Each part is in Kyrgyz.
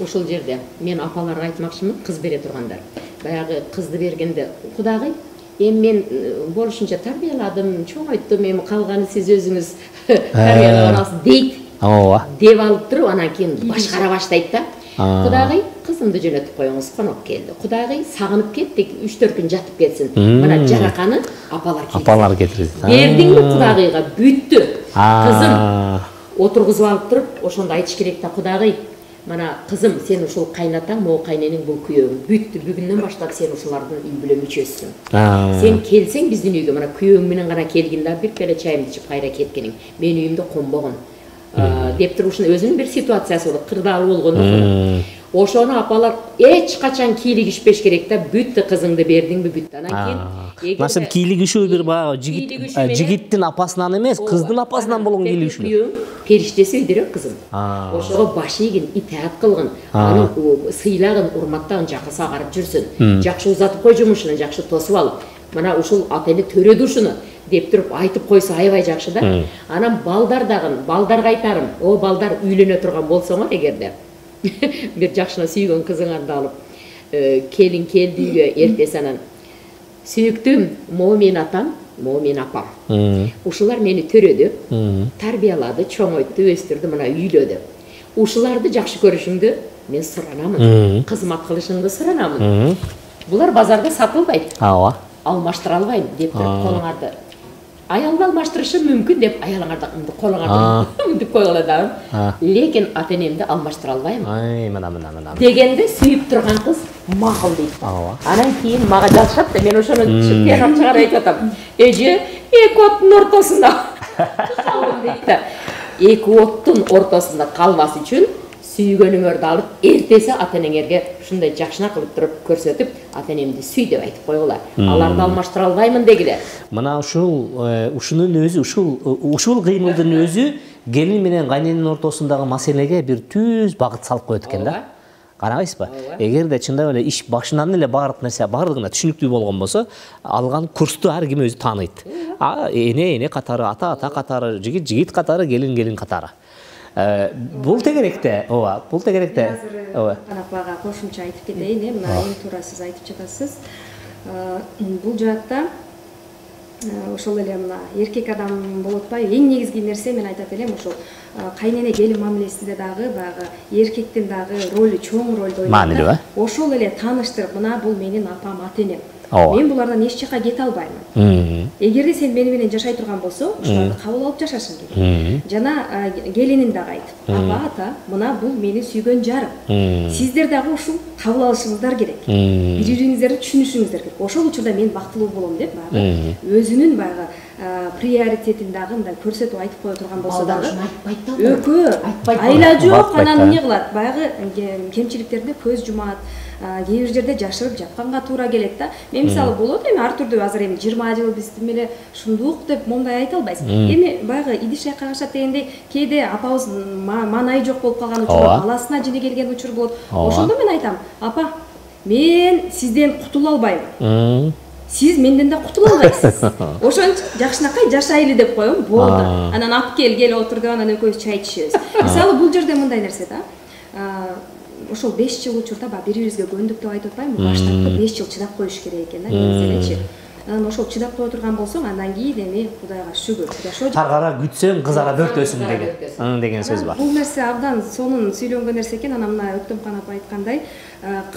ушул жерде мен апаларга айтмакчымын, кыз бере тургандар. Баягы кызды бергенде Кудагый, эми мен болушунча тарбияладым, чоңойттум, эми калганы сиз өзүңүз тарбиялаган аласыз дейт. Ооба. Деп алып туруп, анан кийин башкара баштайт да. Кудагый, кызымды жөнөтүп коюңуз, коноп келди. Кудагый, сагынып кеттик, 3-4 күн жатып кетсин. Мына жараканы апалар келди. Апалар кетирди. Бердиңби Кудагыйга? Бүттү. Кызым отургузуп алып туруп, ошондо айтыш керек да, Кудагый, мына кызым, сен ушул кайнатаң, могу кайненең, бул күйөөң. Бүттү, бүгүндөн баштап сен ушулардын үй бүлө мүчөсүсүң. Сен келсең биздин үйгө, мына күйөөң менен гана келгин да, бир келе чайымды ичип кайра кеткениң. Менин үйүмдө конбогон. Деп туруп ушуну өзүнүн бир ситуациясы болот, кырдаалуу болгону. Ошону апалар эч качан кийлигишпеш керек да, бүттү, кызыңды бердиңби, бүттү. Анан кийин Насып кийлигишүү бир жигиттин апасынан эмес, кыздын апасынан болгон кийлигишүү. Периштеси өйдөрөк кызым. Ошого баш ийгин, итаат кылгын, аны сыйлагын, урматтагын, жакысы агарып жүрсүн. Жакшы узатып кой жумушун, жакшы тосуп ал. Мына ушул ата эне төрөдү ушуну деп туруп айтып койсо аябай жакшы да. Анан балдар дагы, балдарга айтарым, о балдар үйлөнө турган болсоңор эгерде бир жакшына сүйгөн кызыңарды алып, келин келди үйгө, эртеси анан сүйүктүм, могу менин атам, могу менин апам. Ушулар мени төрөдү, тарбиялады, чоңойтту, өстүрдү, мына үйлөдү. Ушуларды жакшы көрүшүңдү мен суранамын. Кызмат кылышыңды суранамын. Булар базарда сатылбайт. Ооба. Алмаштыра албайм деп туруп колуңарды. Аялды алмаштырышым мүмкүн деп аялыңарды колуңарды мынтип койгула да. Лекин ата энемди алмаштыра албайм. Мына. Дегенде сүйүп турган кыз макул дейт. Анан кийин мага жазышат да, мен ошону тыянак чыгарып айтып атам. Эже, эки оттун ортосунда дейт да. Эки оттун ортосунда калбас үчүн сүйгөнүңөрдү алып, эртеси ата энеңерге ушундай жакшына кылып туруп көрсөтүп, ата энемди сүй деп айтып койгула. Аларды алмаштыра албаймын дегиле. Мына ушунун өзү, ушул кыймылдын өзү келин менен кайненин ортосундагы маселеге бир түз багыт салып коет экен да. Карабайсызбы? Эгерде чындап эле иш башынан эле баардык нерсе баардыгына түшүнүктүү болгон болсо, алган курсту ар ким өзү тааныйт. Эне катары, ата катары, жигит катары, келин катары. Бул тегеректе, ооба, бул тегеректе. Азыр апага кошумча айтып кетейин, мына эң туура сиз айтып жатасыз. Бул жаатта ошол эле мына эркек адам болуп атпайбы? Эң негизги нерсе мен айтат элем, ошол кайнене келин мамилесинде дагы баягы эркектин дагы ролу чоң ролду ойнойт. Маанилүү, Ошол эле тааныштырып, мына бул менин апам, ата энем. Мен булардан эч жака кете албаймын. Эгерде сен мени менен жашай турган болсо, ушуларды кабыл алып жашашың керек. Жана келинин дагы айт. Апа, ата, мына бул мени сүйгөн жарым. Сиздер дагы ушул кабыл алышыңыздар керек. Бири-бириңиздерди түшүнүшүңүздөр керек. Ошол учурда мен бактылуу болом деп баягы өзүнүн баягы приоритетин дагы мындай көрсөтүп айтып кое турган болсо дагы экөө айла жок, анан эмне кылат? Баягы кемчиликтерине көз жумат. Кээ бир жерде жашырып жатканга туура келет да. Мен мисалы болот эми ар түрдүү, азыр эми 20 жыл биз меле шундук деп момундай айта албайсың. Эми баягы идиш кагышат дегендей, кээде апабыз маанайы жок болуп калган учур, баласына жини келген учур болот. Ошондо мен айтам, апа, мен сизден кутула албайм. Сиз менден да кутула албайсыз. Ошон жакшынакай жашайлы деп коем, болду. Анан ап кел отур деп анан экөөбүз чай ичебиз. Мисалы бул жерде мындай нерсе да. Ошол 5 жыл учурда бири-бирибизге көндүк деп айтып атпаймынбы? Баштапкы 5 жыл чыдап коюш керек экен да, негизинечи. Анан ошол чыдап кое турган болсоң, андан кийин эми Кудайга шүгүр. Таргара күтсөң, кыз ара бөртөсүң деген сөз бар. Бул нерсе абдан сонун сөйлөнгөн нерсе экен. Анан мына Өктөмкан апа айткандай,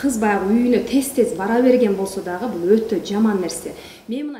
кыз баягы үйүнө тез бара берген болсо дагы бул өтө жаман нерсе. Мен мына